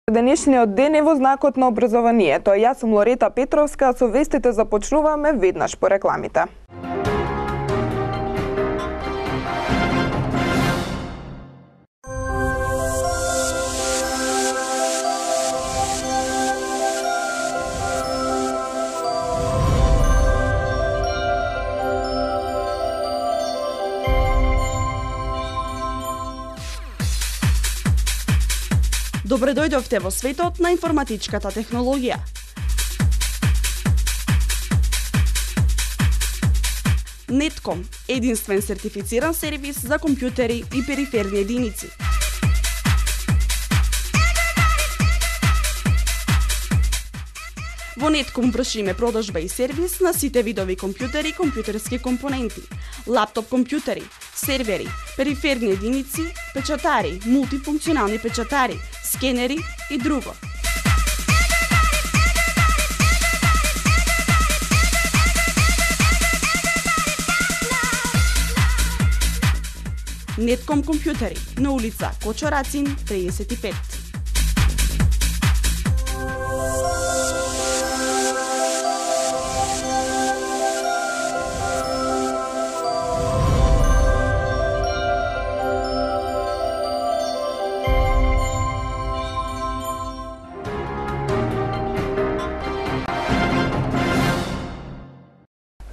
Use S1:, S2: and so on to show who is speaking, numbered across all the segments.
S1: Денешниот ден е во знакот на образованието. Јас сум Лорета Петровска, со вестите започнуваме веднаш по рекламите.
S2: Добре дојдовте во светот на информатичката технологија. Netcom – единствен сертифициран сервис за компјутери и периферни единици. Во Netcom вршиме продажба и сервис на сите видови компјутери и компјутерски компоненти, лаптоп компјутери, сервери, периферни единици, печатари, мултифункционални печатари, скенери и друго. Netcom компјутери на улица Кочо Рацин 35.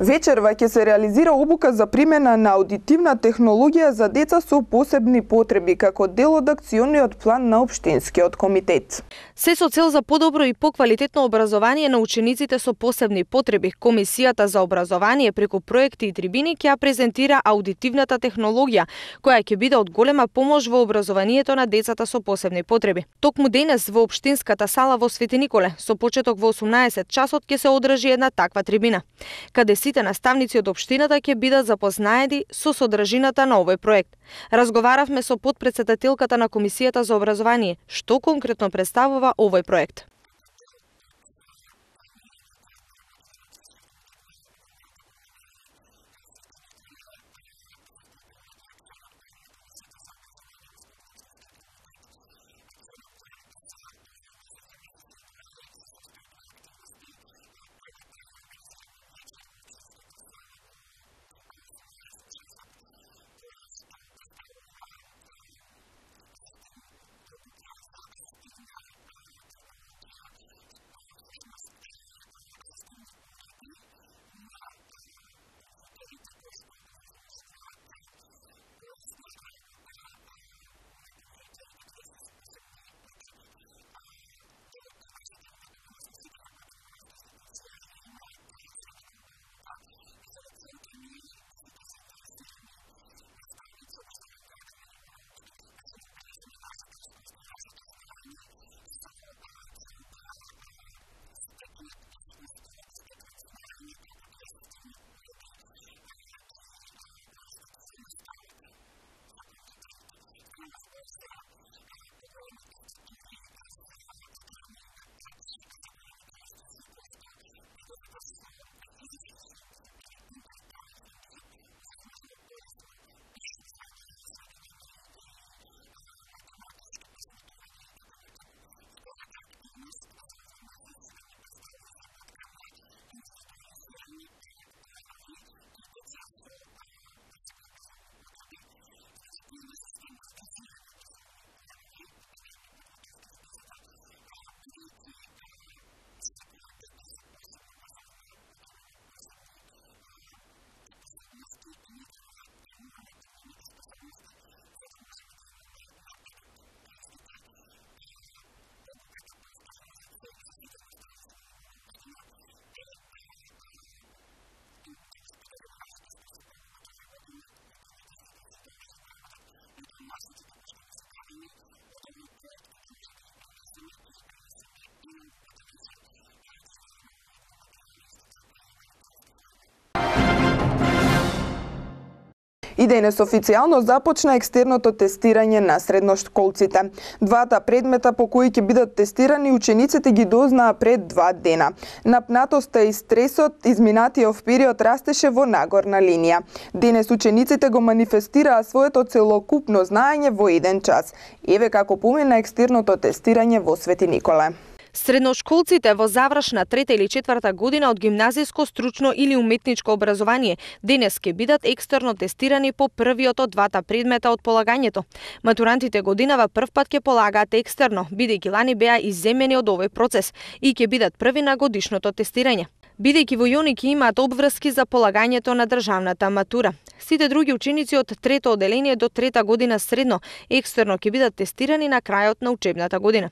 S1: Вечерва ќе се реализира обука за примена на аудитивна технологија за деца со посебни потреби како дел од акциониот план на општинскиот комитет.
S3: Се со цел за подобро и поквалитетно образование на учениците со посебни потреби, Комисијата за образование преку проекти и трибини ќе ја презентира аудитивната технологија, која ќе биде од голема помош во образованието на децата со посебни потреби. Токму денес во општинската сала во Свети Николе, со почеток во 18 часот ќе се одржи една таква трибина, каде сите наставници од општината ќе бидат запознаени со содржината на овој проект. Разговаравме со потпредседателката на Комисијата за образование, што конкретно представува овој проект.
S1: И денес официјално започна екстерното тестирање на средношколците. Двата предмета по кои ќе бидат тестирани учениците ги дознаа пред 2 дена. Напнатоста и стресот изминатиот период растеше во нагорна линија. Денес учениците го манифестираа своето целокупно знаење во 1 час. Еве како помина екстерното тестирање во Свети Николе.
S3: Средношколците во завршна 3-та или 4-та година од гимназиско, стручно или уметничко образование денес ќе бидат екстерно тестирани по првиот од двата предмета од полагањето. Матурантите годинава првпат ќе полагаат екстерно, бидејќи лани беа изземени од овој процес и ќе бидат први на годишното тестирање. Бидејќи во Јоники имаат обврски за полагањето на државната матура. Сите други ученици од 3-то оделение до 3-та година средно екстерно ќе бидат тестирани на крајот на учебната година.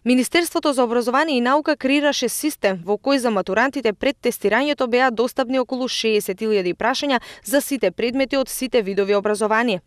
S3: Министерството за образование и наука креираше систем во кој за матурантите пред тестирањето беа достапни околу 60.000 прашања за сите предмети од сите видови образование.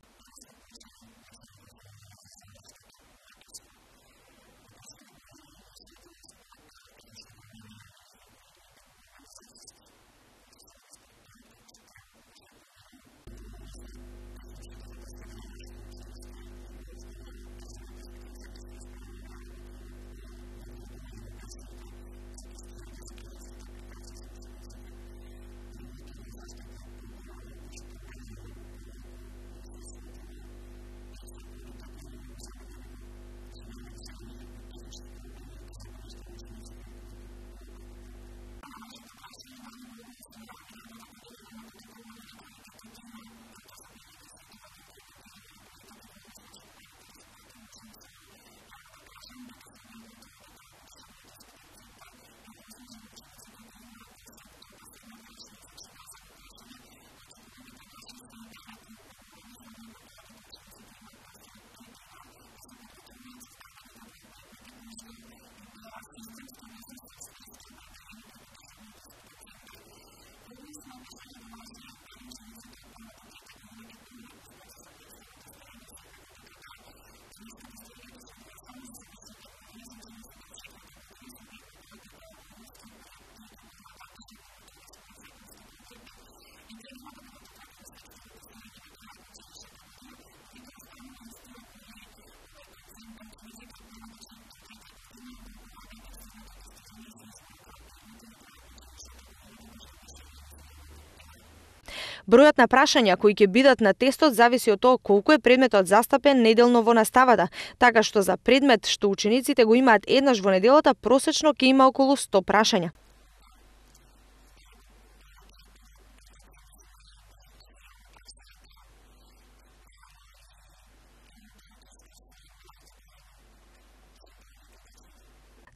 S3: Бројот на прашања кои ќе бидат на тестот зависи од тоа колку е предметот застапен неделно во наставата, така што за предмет што учениците го имаат еднаш во неделата просечно ќе има околу 100 прашања.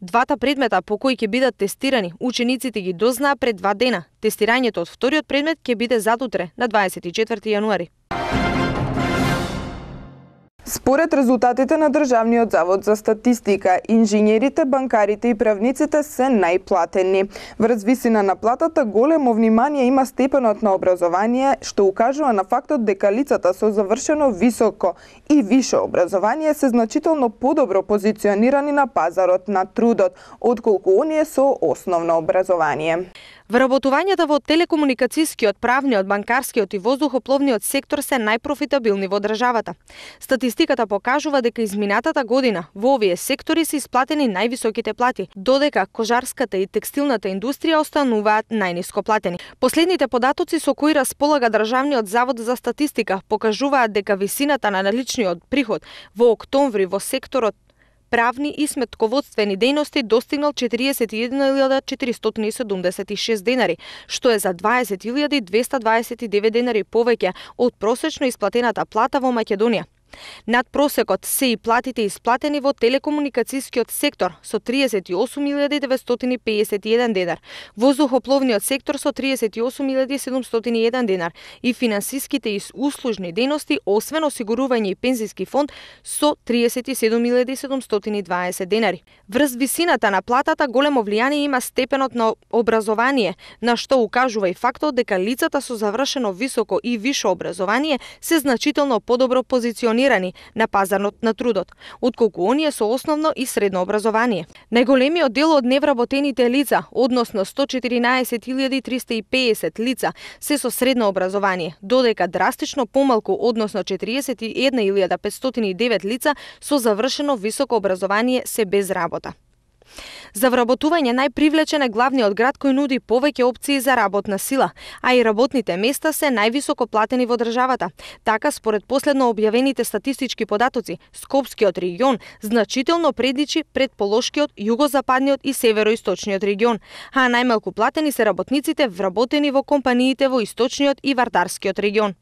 S3: Двата предмета по кои ќе бидат тестирани, учениците ги дознаа пред 2 дена. Тестирањето од вториот предмет ќе биде задутре, на 24 јануари.
S1: Според резултатите на Државниот завод за статистика, инженерите, банкарите и правниците се најплатени. Врз висина на платата големо внимание има степенот на образование, што укажува на фактот дека лицата со завршено високо и висше образование се значително подобро позиционирани на пазарот на трудот, отколку оние со основно образование.
S3: Вработувањата во телекомуникацијскиот, правниот, банкарскиот и воздухопловниот сектор се најпрофитабилни во државата. Статистиката покажува дека изминатата година во овие сектори се исплатени највисоките плати, додека кожарската и текстилната индустрија остануваат најниско платени. Последните податоци со кои располага Државниот завод за статистика покажуваат дека висината на наличниот приход во октомври во секторот правни и сметководствени дејности достигнал 41.476 денари, што е за 20.229 денари повеќе од просечно исплатената плата во Македонија. Над просекот се и платите исплатени во телекомуникацијскиот сектор со 38.951 денар, воздухопловниот сектор со 38.701 денар и финансиските и услужни дејности, освен осигурување и пензиски фонд, со 37.720 денари. Врз висината на платата големо влијание има степенот на образование, на што укажува и фактот дека лицата со завршено високо и висше образование се значително подобро позиционирани на пазарот на трудот, отколку оние со основно и средно образование. Најголемиот дел од невработените лица, односно 114.350 лица, се со средно образование, додека драстично помалку, односно 41.509 лица со завршено високо образование се без работа. За вработување најпривлечен е главниот град кој нуди повеќе опции за работна сила, а и работните места се највисоко платени во државата. Така, според последно објавените статистички податоци, Скопскиот регион значително предичи пред Полошкиот, југозападниот и североисточниот регион, а најмалку платени се работниците вработени во компаниите во источниот и вардарскиот регион.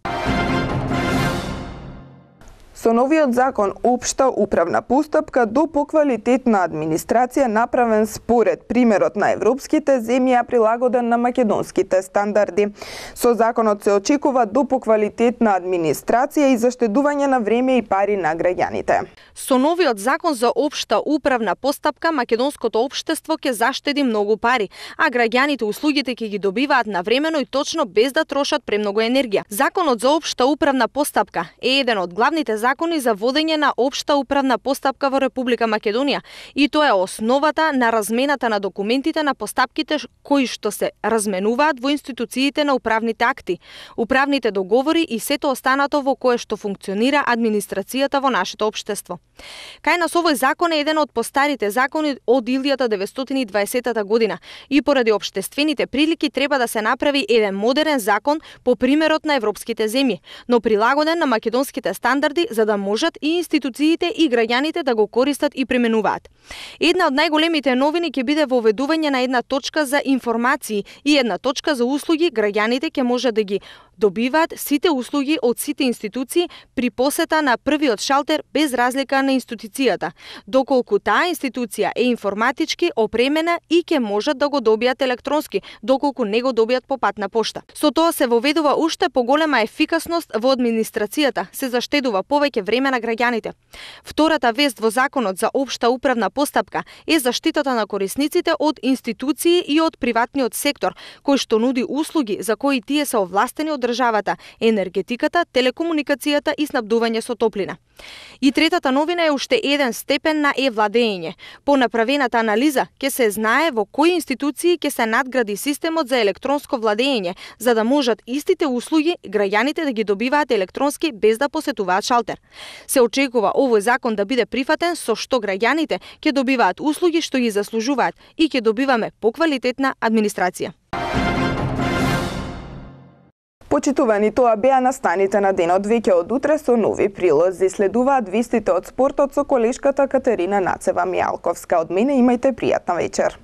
S1: Со новиот закон општа управна постапка до поквалитетна администрација направен според примерот на европските земји, а прилагоден на македонските стандарди. Со законот се очекува до поквалитетна администрација и заштедување на време и пари на граѓаните.
S3: Со новиот закон за општа управна постапка македонското општество ќе заштеди многу пари, а граѓаните услугите ќе ги добиваат навремено и точно без да трошат премногу енергија. Законот за општа управна постапка е еден од главните закони за водење на општа управна постапка во Република Македонија и тоа е основата на размената на документите на постапките кои што се разменуваат во институциите на управните акти, управните договори и сето останато во кое што функционира администрацијата во нашето општество. Кај нас овој закон е еден од постарите закони од 1920 година и поради општествените прилики треба да се направи еден модерен закон по примерот на европските земји, но прилагоден на македонските стандарди за да можат и институциите и граѓаните да го користат и применуваат. Една од најголемите новини ќе биде воведување на една точка за информации и една точка за услуги. Граѓаните ќе може да ги добиваат сите услуги од сите институции при посета на првиот шалтер без разлика на институцијата, доколку таа институција е информатички опремена и ќе можат да го добијат електронски, доколку не го добијат по патна пошта. Со тоа се воведува уште поголема ефикасност во администрацијата, се заштедува повеќе време на граѓаните. Втората вест во законот за општа управна постапка е заштитата на корисниците од институции и од приватниот сектор, кој што нуди услуги за кои тие се овластени од државата, енергетиката, телекомуникацијата и снабдување со топлина. И третата новина е уште еден степен на е-владење. По направената анализа ќе се знае во кои институции ќе се надгради системот за електронско владење, за да можат истите услуги граѓаните да ги добиваат електронски без да посетуваат шалтер. Се очекува овој закон да биде прифатен, со што граѓаните ќе добиваат услуги што ги заслужуваат и ќе добиваме поквалитетна администрација.
S1: Почитувани, тоа беа настаните на денот. Веќе од утре со нови прилози. Следуваат вистите од спортот со колешката Катерина Нацева Мијалковска. Од мене имајте пријатна вечер.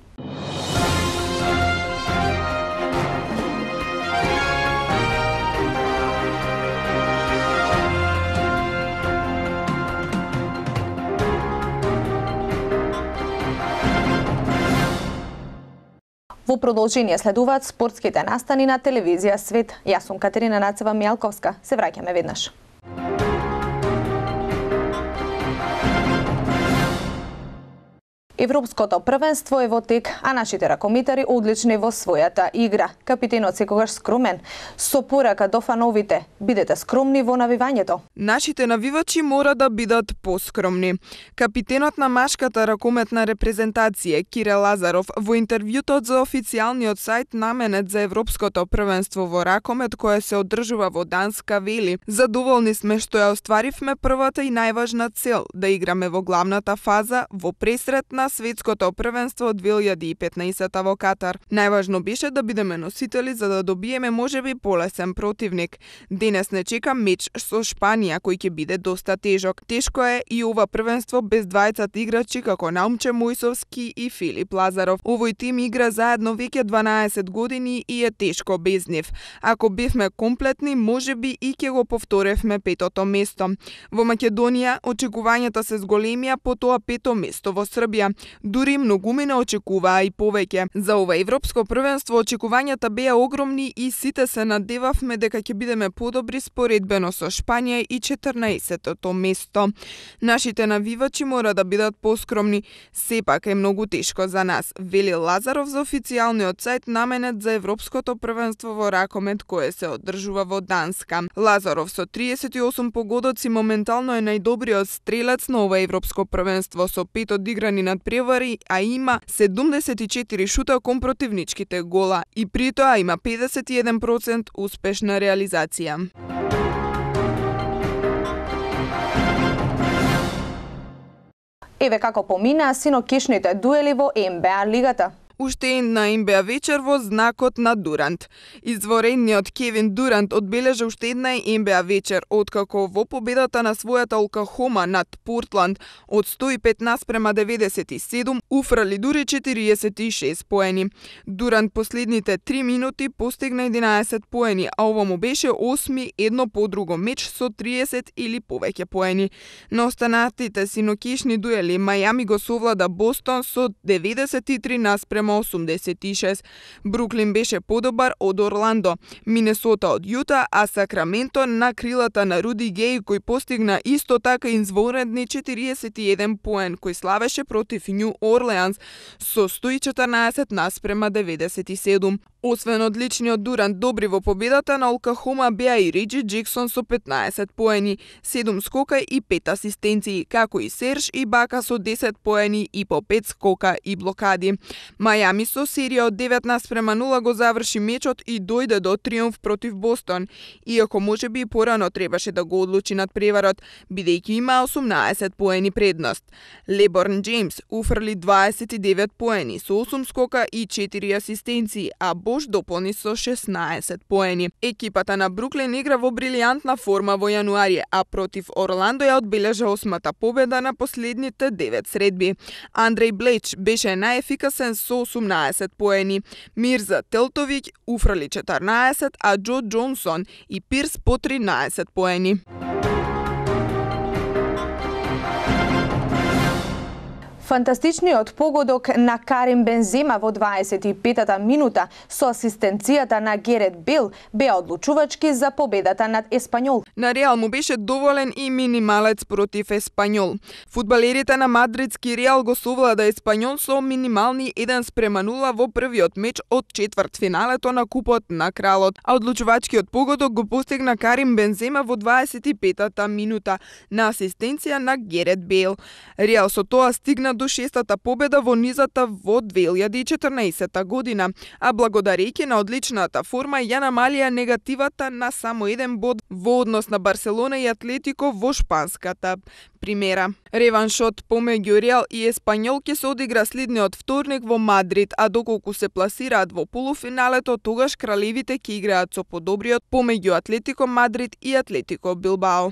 S3: Во продолжение следуваат спортските настани на телевизија Свет. Јас сум Катерина Нацева Мијалковска. Се враќаме веднаш. Европското првенство е во тек, а нашите ракометари одлични во својата игра. Капитенот секогаш скромен. Со порака до фановите, бидете скромни во навивањето.
S1: Нашите навивачи мора да бидат поскромни. Капитенот на машката ракометна репрезентација Кирил Лазаров во интервјуто за официјалниот сајт наменет за Европското првенство во ракомет кое се одржува во Данска вели: "Задоволни сме што ја остваривме првата и најважна цел да играме во главната фаза во пресрет на Светското првенство од 2015 во Катар. Најважно беше да бидеме носители за да добиеме можеби полесен противник. Денес не чека меч со Шпанија кој ќе биде доста тежок. Тешко е и ова првенство без двајцата играчи како Наумче Мојсовски и Филип Лазаров. Овој тим игра заедно веќе 12 години и е тешко без нив. Ако бевме комплетни, можеби и ќе го повторевме петото место. Во Македонија очекувањата се зголемија по тоа пето место во Србија. Дури многумина очекуваа и повеќе. За ова европско првенство очекувањата беа огромни и сите се надевавме дека ќе бидеме подобри споредбено со Шпанија и 14-тото место. Нашите навивачи мора да бидат поскромни, сепак е многу тешко за нас, вели Лазаров за официјалниот сајт наменет за Европското првенство во ракомет кое се одржува во Данска. Лазаров со 38 погодоци моментално е најдобриот стрелец на ова европско првенство со 5 одиграни надпревари, а има 74 шута кон противничките гола и при тоа има 51% успешна реализација.
S3: Еве како поминаа синокишните дуели во НБА лигата.
S1: Уште една НБА вечер во знакот на Дурант. Изворениот Кевин Дурант одбележа уште една НБА вечер, откако во победата на својата Оклахома над Портланд од 115-97 уфрали дури 46 поени. Дурант последните 3 минути постигна 11 поени, а ова му беше 8 едно по друго меч со 30 или повеќе поени. На останатите синокишни дуели Мајами го совлада Бостон со 93-86. Бруклин беше подобар од Орландо, Минесота од Јута, а Сакраменто на крилата на Руди Геј кој постигна исто така извонредни 41 поен, кој славеше против Нью Орлеанс со 114-97. Освен одличниот Дурант добри во победата на Оклахома беа и Реджи Джексон со 15 поени, 7 скока и 5 асистенции, како и Серж Ибака со 10 поени и по 5 скока и блокади. Мајами со серија од 19-0 го заврши мечот и дојде до триумф против Бостон, иако можеби и порано требаше да го одлучи надпреварот, бидејќи има 18 поени предност. Леборн Джеймс уфрли 29 поени со 8 скока и 4 асистенции, а Бош дополни со 16 поени. Екипата на Бруклин игра во брилијантна форма во јануари, а против Орландо ја одбележа 8-та победа на последните 9 средби. Андреј Блеч беше најефикасен со 18 поени. Мирза Телтовиќ уфрли 14, а Џо Џонсон и Пирс по 13 поени.
S3: Фантастичниот погодок на Карим Бензема во 25-та минута со асистенцијата на Герет Бел беа одлучувачки за победата над Еспањол.
S1: На Реал му беше доволен и минималец против Еспањол. Фудбалерите на мадридски Реал го совлада Еспањол со минимални 1-0 во првиот меч од четвртфиналето на Купот на Кралот, а одлучувачкиот погодок го постигна Карим Бензема во 25-та минута на асистенција на Герет Бел. Реал со тоа стигна до 6-та победа во низата во 2014 година, а благодарејќи на одличната форма ја намалија негативата на само 1 бод во однос однос на Барселона и Атлетико во шпанската примера. Реваншот помеѓу Реал и Еспањол ќе се одигра следниот вторник во Мадрид, а доколку се пласираат во полуфиналето, тогаш кралевите ќе играат со подобриот помеѓу Атлетико Мадрид и Атлетико Билбао.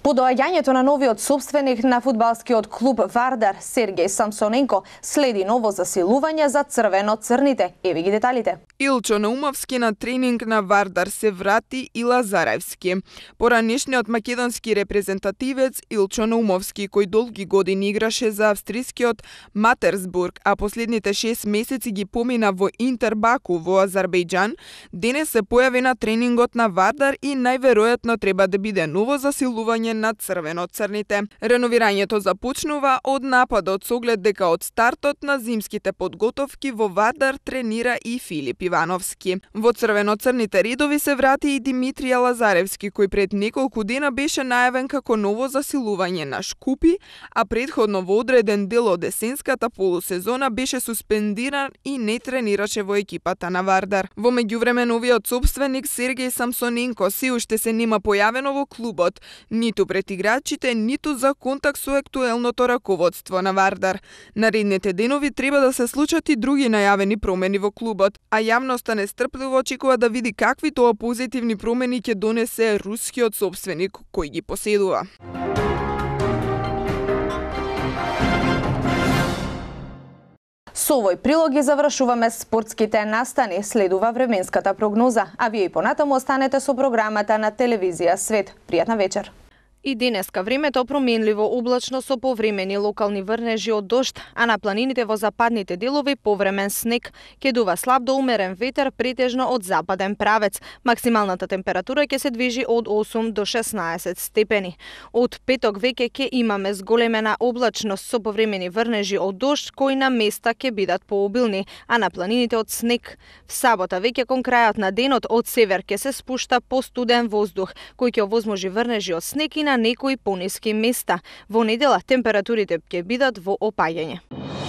S3: По доаѓањето на новиот собственик на фудбалскиот клуб Вардар, Сергеј Самсоненко, следи ново засилување за црвено-црните. Еви ги деталите.
S1: Илчо Наумовски на тренинг на Вардар се врати и Лазаревски. Поранешниот македонски репрезентативец Илчо Наумовски, кој долги години играше за австрискиот Матерсбург, а последните 6 месеци ги помина во Интер Баку во Азербејџан, денес се појави на тренингот на Вардар и најверојатно треба да биде ново засилување на црвено-црните. Реновирањето започнува од нападот со оглед дека од стартот на зимските подготовки во Вардар тренира и Филип Ивановски. Во црвено-црните редови се врати и Димитрија Лазаревски, кој пред неколку дена беше најавен како ново засилување на Шкупи, а предходно во одреден дел од есенската полусезона беше суспендиран и не тренираше во екипата на Вардар. Во меѓувреме новиот собственик Сергеј Самсоненко се уште се нема појавено во клубот, ниту пред играчите, ниту за контакт со актуелното раководство на Вардар. Наредните денови треба да се случат и други најавени промени во клубот, а јавноста нестрпливо очекува да види какви тоа позитивни промени ќе донесе рускиот собственик кој ги поседува.
S3: Со овој прилог ги завршуваме спортските настани, следува временската прогноза, а вие и понатаму останете со програмата на телевизија Свет. Пријатна вечер. И денеска времето променливо облачно со повремени локални врнежи од дожд, а на планините во западните делови повремен снег. Ќе дува слаб до умерен ветер претежно од западен правец. Максималната температура ќе се движи од 8 до 16 степени. Од петок веќе ќе имаме зголемена облачност со повремени врнежи од дожд кои на места ќе бидат пообилни, а на планините од снег. В сабота веќе кон крајот на денот од север ќе се спушта постуден воздух, кој ќе овозможи врнежи од снег и на некои пониски места. Во недела температурите ќе бидат во опаѓање.